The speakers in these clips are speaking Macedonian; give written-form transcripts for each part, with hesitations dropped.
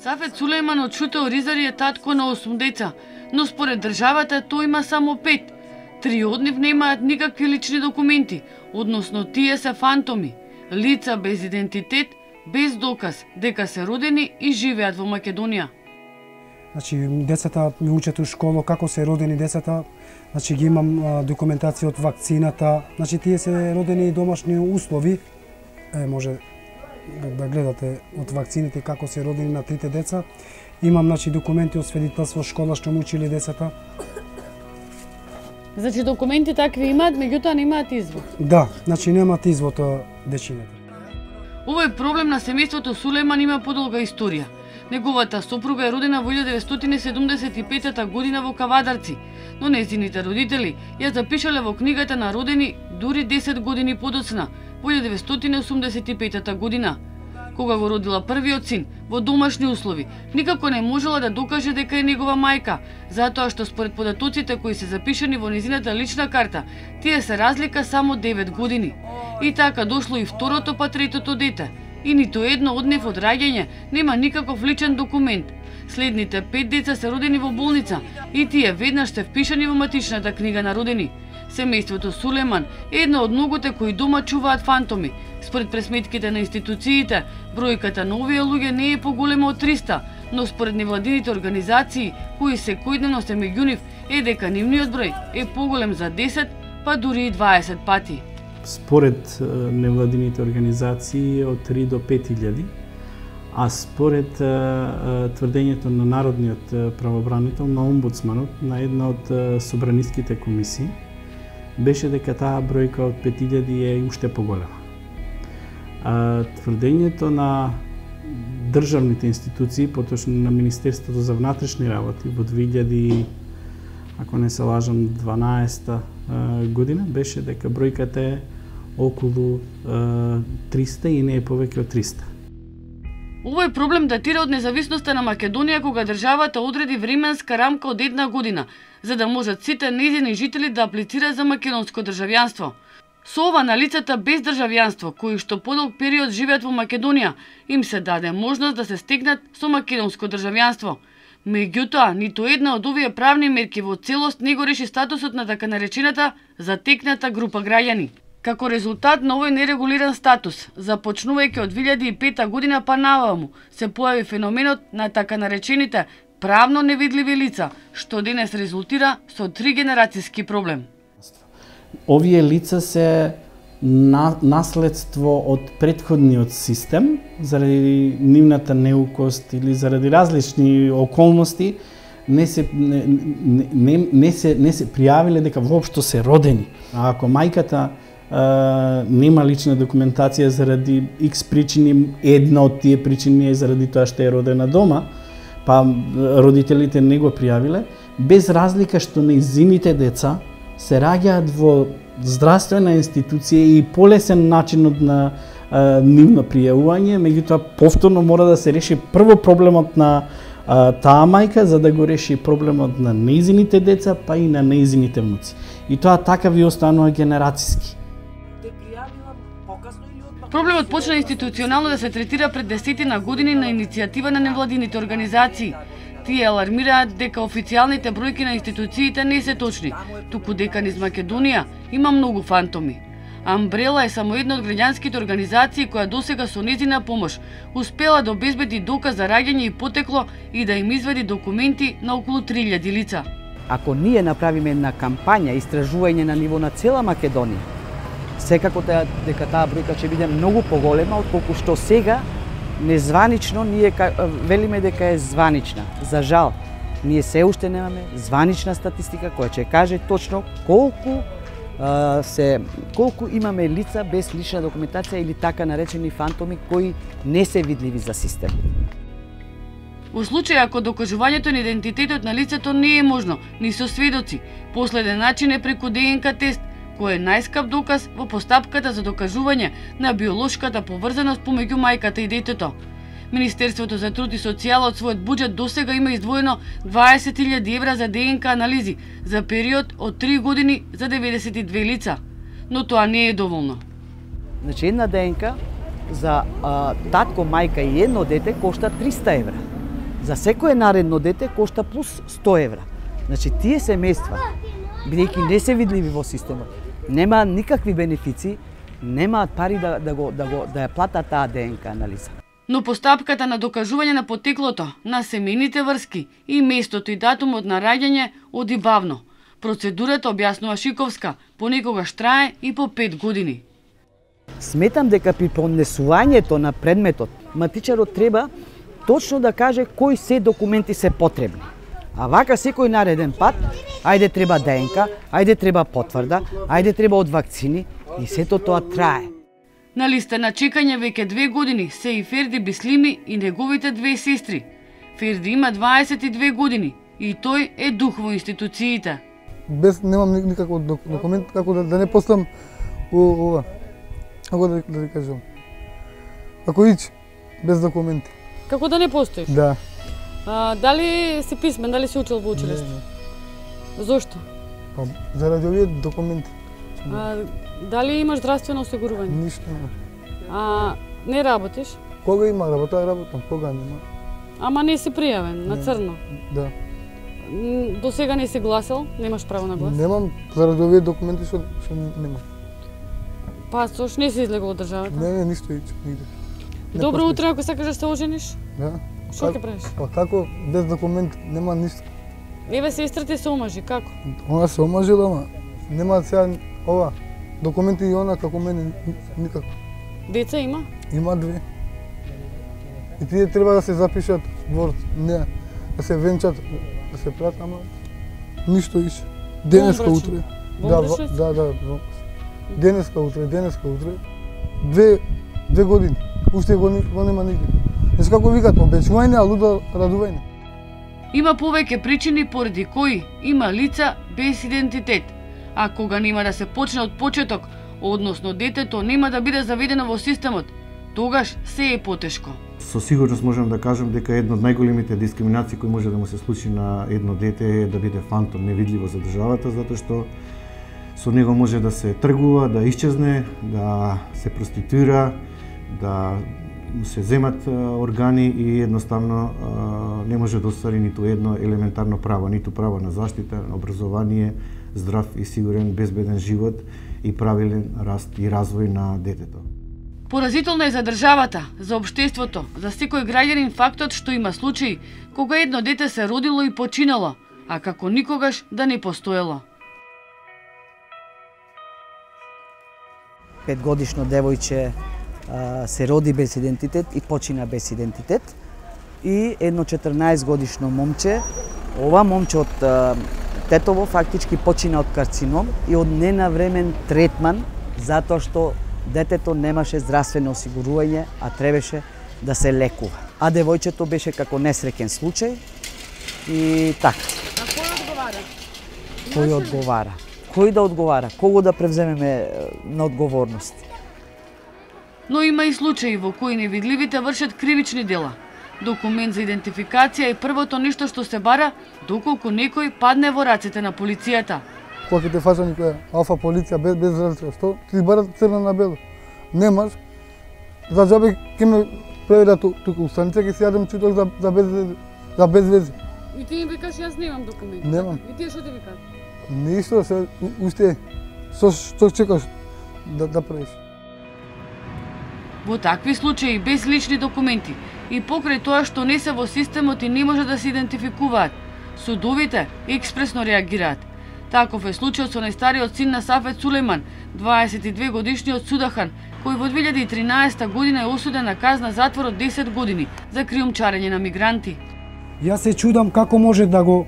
Сафет Сулејман од Шуте Оризари е татко на 8 деца, но според државата тој има само 5. 3 од нив немаат никакви лични документи, односно тие се фантоми, лица без идентитет, без доказ дека се родени и живеат во Македонија. Значи, децата ми учат у школа како се родени децата, значи ги имам документација од вакцината, значи тие се родени домашни услови, може да гледате од вакцините како се родени на 3 деца. Имам значи документи од свидетелство школа што му учили децата. Значи документи такви имаат, меѓутоа немаат извод. Да, значи немаат извод дечината. Овој проблем на семејството Сулејман има подолга историја. Неговата сопруга е родена во 1975 година во Кавадарци, но нејзините родители ја запишале во книгата на родени дури 10 години подоцна, во 1985 година. Кога го родила првиот син во домашни услови, никако не можела да докаже дека е негова мајка, затоа што според податоците кои се запишани во незината лична карта, тие се разлика само 9 години. И така дошло и второто па третото дете, и ниту едно од нив од раѓање нема никаков личен документ. Следните 5 деца се родени во болница и тие веднаш се впишани во матичната книга на родени. Семејството Сулејман е едно од многуте кои дома чуваат фантоми. Според пресметките на институциите, бројката на овие луѓе не е поголема од 300, но според невладините организации, кои секојдневно се меѓу нив, е дека нивниот број е поголем за 10, па дури и 20 пати. Според невладините организации од 3 до 5000, а според тврдењето на Народниот правобранител, на омбудсманот, на една од собраниските комисии, беше дека таа бројка од 5000 е уште поголема. Тврдењето на државните институции, поточно на Министерството за внатрешни работи во 2000, ако не се лажам, 12 година, беше дека бројката е околу 300 и не е повеќе од 300. Овој проблем датира од независноста на Македонија, кога државата одреди временска рамка од 1 година, за да можат сите нејзини жители да аплицираат за македонско државјанство. Со ова на лицата без државјанство, кои што подолг период живеат во Македонија, им се даде можност да се стекнат со македонско државјанство. Меѓутоа, ниту една од овие правни мерки во целост не го реши статусот на така наречената затекната група граѓани. Како резултат на овој нерегулиран статус, започнувајќи од 2005 година па наваму, се појави феноменот на така наречените правно невидливи лица, што денес резултира со 3 генерацијски проблем. Овие лица се наследство од претходниот систем, заради нивната неукост или заради различни околности, не се пријавиле дека воопшто се родени. А ако мајката нема лична документација заради X причини, една од тие причини е заради тоа што е родена дома, па родителите не го пријавиле, без разлика што нејзините деца се раѓаат во здравствена институција и полесен начинот на нивно пријавување, меѓутоа повторно мора да се реши прво проблемот на таа мајка, за да го реши проблемот на нејзините деца, па и на нејзините внуци. И тоа така ви останува генерацијски. Проблемот почна институционално да се третира пред 10 години на иницијатива на невладините организации. Тие алармираат дека официјалните бројки на институциите не се точни, туку дека низ Македонија има многу фантоми. Амбрела е само една од граѓанските организации која досега со нејзина помош успела да обезбеди доказ за раѓање и потекло и да им извади документи на околу 3000 лица. Ако ние направиме една кампања, истражување на ниво на цела Македонија, секако дека таа бројка ќе биде многу поголема отколку што сега незванично ние велиме дека е званична. За жал, ние се уште немаме званична статистика која ќе каже точно колку имаме лица без лична документација или така наречени фантоми кои не се видливи за систем. Во случај ако докажувањето на идентитетот на лицето не е можно ни со сведоци, последен начин е преку ДНК тест, кој е најскап доказ во постапката за докажување на биолошката поврзаност помеѓу мајката и детето. Министерството за труд и социјала од својот буџет досега има издвоено 20.000 евра за ДНК анализи за период од 3 години за 92 лица, но тоа не е доволно. Значи една ДНК за татко, мајка и едно дете кошта 300 евра. За секое наредно дете кошта плюс 100 евра. Значи тие семејства, бидејќи не се видливи во системот, немаат никакви бенефици, немаат пари да ја платат таа ДНК анализа. Но постапката на докажување на потеклото на семејните врски и местото и датумот на раѓање оди бавно. Процедурата, објаснува Шиковска, понекогаш трае и по 5 години. Сметам дека при поднесувањето на предметот, матичарот треба точно да каже кои се документи се потребни. А вака секој нареден пат, ајде треба ДНК, ајде треба потврда, ајде треба од вакцини и сето тоа трае. На листа на чекање веќе 2 години се и Ферди Бислими и неговите 2 сестри. Ферди има 22 години и тој е дух во институциите. Без немам никаков документ, како да не постам ова. Како да ви кажам. Како ич без документи. Како да не постоиш? Да. Дали си писмен, дали си учил во училиште? Зошто? Заради овие документи. Дали имаш здравствено осигурување? Ништо нема. Не работиш? Кога има работа, работам, кога нема. Ама не си пријавен, на црно? Да. До сега не си гласал? Немаш право на глас? Немам, заради овие документи што немам. Пасош, не си излегол од државата? Не, ништо ич, нигде. Добро утро, ако сакаш да се ожениш? Да. Што ќе правиш? Па како, без документ нема ништо. Еве сестрите се омажи, како? Она се омажила, ама нема сега ова документи и она како мене никако. Деца има? Има 2. И тие треба да се запишат во не, да се венчат, да се прат, ама ништо иш. Денеска утре. Да. Денеска утре. 2 години. Уште го нема нигде. Знаеш како викат, обечување, а лудо радување. Има повеќе причини поради кои има лица без идентитет, а кога нема да се почне од почеток, односно детето нема да биде заведено во системот, тогаш се е потешко. Со сигурност можам да кажам дека една од најголемите дискриминации кои може да му се случи на едно дете е да биде фантом, невидливо за државата, затоа што со него може да се тргува, да исчезне, да се проституира, да се земат органи и едноставно не може да оствари ниту едно елементарно право, ниту право на заштита, на образование, здрав и сигурен, безбеден живот и правилен раст и развој на детето. Поразително е за државата, за општеството, за секој граѓанин фактот што има случаи кога едно дете се родило и починало, а како никогаш да не постоело. 5-годишно девојче се роди без идентитет и почина без идентитет. И едно 14-годишно момче, ова момче од тетово фактички почина од карцином и од ненавремен третман затоа што детето немаше здравствено осигурување, а требаше да се лекува. А девојчето беше како несреќен случај и така. А кој одговара? Кој одговара? Кој да одговара? Кого да превземеме на одговорност? Но има и случаи во кои невидливите вршат кривични дела. Документ за идентификација е првото нешто што се бара доколку некој падне во рацете на полицијата. Кога ќе те фаќа некоја алфа полиција без разлика, што ти барат црна на бело. Немаш, за џабе ќе ме преведат тука у станица, ќе си јадем чуток за без вези. И ти им викаш јас немам документ. Немам. И тие што ти викаат? Ништо, се уште што чекаш да правиш. Во такви случаи без лични документи и покрај тоа што не се во системот и не може да се идентификуваат, судовите експресно реагираат. Таков е случајот со најстариот син на Сафет Сулејман, 22 годишниот Судахан, кој во 2013 година е осуден на казна затвор од 10 години за криумчарење на мигранти. Јас се чудам како може да го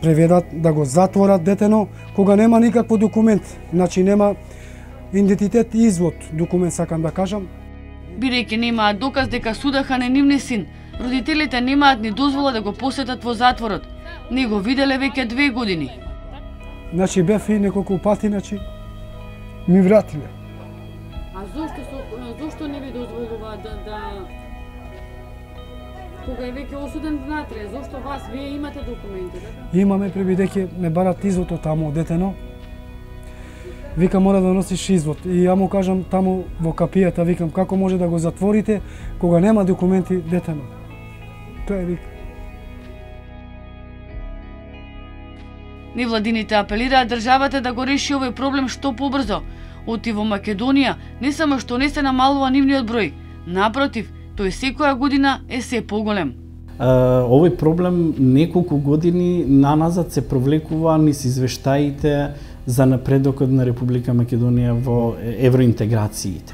преведат, да го затворат детено, кога нема никакво документ, значи нема идентитет и извод, документ сакам да кажам. Бидејќи немаат доказ дека Судахан е нивни син, родителите немаат ни дозвола да го посетат во затворот. Не го виделе веќе 2 години. Значи бев и неколку пати, значи ми вратиле. А зошто не ви дозволуваат да кога е веќе осуден внатре, зошто вас вие имате документи, така? Имаме пребидејќи ме барат извод од таму детено. Вика мора да носиш извод и ја му кажам таму во капијата, викам како може да го затворите кога нема документи детено. Тоа е вик. Невладините апелираат државата да го реши овој проблем што побрзо. Оти во Македонија не само што не се намалува нивниот број, напротив, тој секоја година е се поголем. Овој проблем неколку години наназад се провлекува низ извештаите за напредокот на Република Македонија во евроинтеграциите.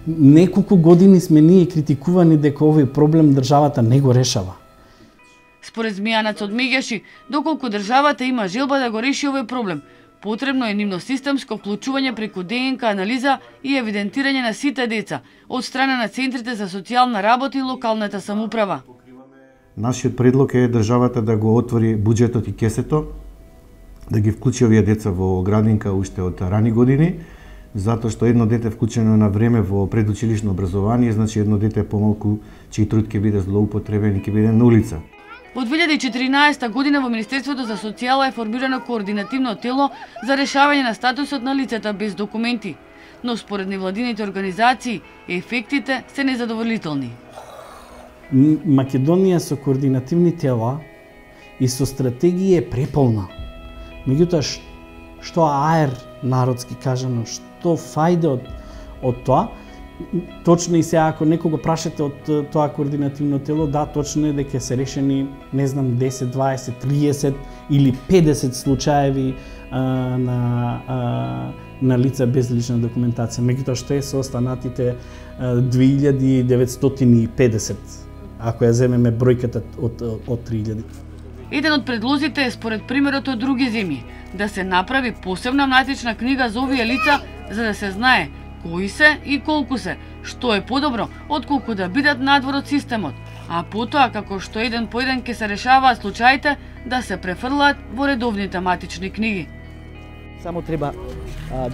Неколку години сме ние критикувани дека овој проблем државата не го решава. Според Змејанец одмеѓаши, доколку државата има желба да го реши овој проблем, потребно е нивно системско вклучување преку ДНК анализа и евидентирање на сите деца од страна на центрите за социјална работа и локалната самоуправа. Нашиот предлог е државата да го отвори буџетот и кесето, да ги вклучи овие деца во градинка уште од рани години, затоа што едно дете вклучено на време во предучилишно образование, значи едно дете помалку чиј труд ќе биде злоупотребен и ќе биде на улица. Во 2014 година во Министерството за социјала е формирано координативно тело за решавање на статусот на лицата без документи, но според невладините организации ефектите се незадоволителни. Македонија со координативни тела и со стратегија е преполна. Меѓутоа, што аер народски кажано, што фајде од тоа, точно и сега ако некого прашате од тоа координативно тело, да, точно е дека се решени, не знам, 10, 20, 30 или 50 случаеви на лица без лична документација. Меѓутоа, што е со останатите 2950, ако ја земеме бројката од 3000. Еден од предлозите е според примерот од други земји, да се направи посебна матична книга за овие лица, за да се знае кои се и колку се, што е подобро отколку да бидат надвор од системот, а потоа како што еден по еден ќе се решаваат случаите да се префрлаат во редовните матични книги. Само треба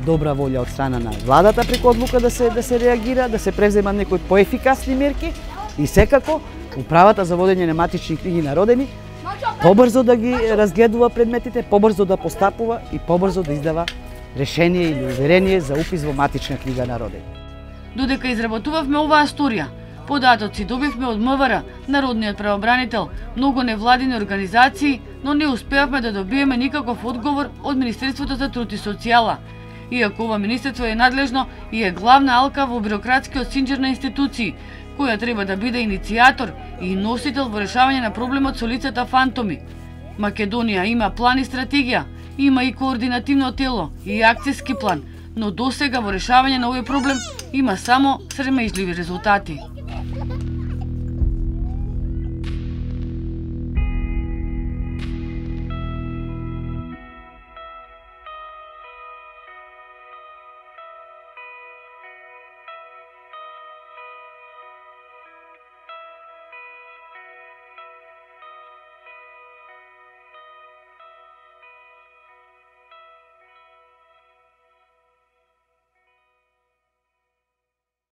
добра волја од страна на владата преку одлука да се реагира, да се превземат некои поефикасни мерки и секако управата за водење на матични книги на родени побрзо да ги разгледува предметите, побрзо да постапува и побрзо да издава решение или уверение за упис во матична книга на родени. Додека изработувавме оваа сторија, податоци добивме од МВР, Народниот правобранител, многу невладини организации, но не успеавме да добиеме никаков одговор од Министерството за труд и социјала. Иако ова министерство е надлежно и е главна алка во бирократскиот синџир на институции, која треба да биде иницијатор и носител во решавање на проблемот со лицата фантоми. Македонија има план и стратегија, има и координативно тело и акцијски план, но досега во решавање на овој проблем има само срамежливи резултати.